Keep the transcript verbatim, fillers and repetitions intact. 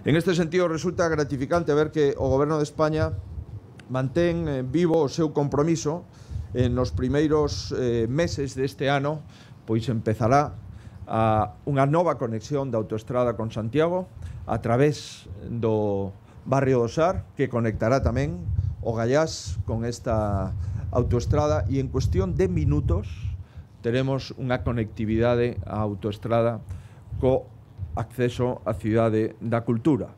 En este sentido, resulta gratificante ver que o Goberno de España mantén eh, vivo o seu compromiso. En nos primeiros eh, meses deste ano, pois empezará a unha nova conexión da autoestrada con Santiago a través do barrio do Sar, que conectará tamén o Gallás con esta autoestrada, e en cuestión de minutos teremos unha conectividade á autoestrada co acceso á Cidade da Cultura.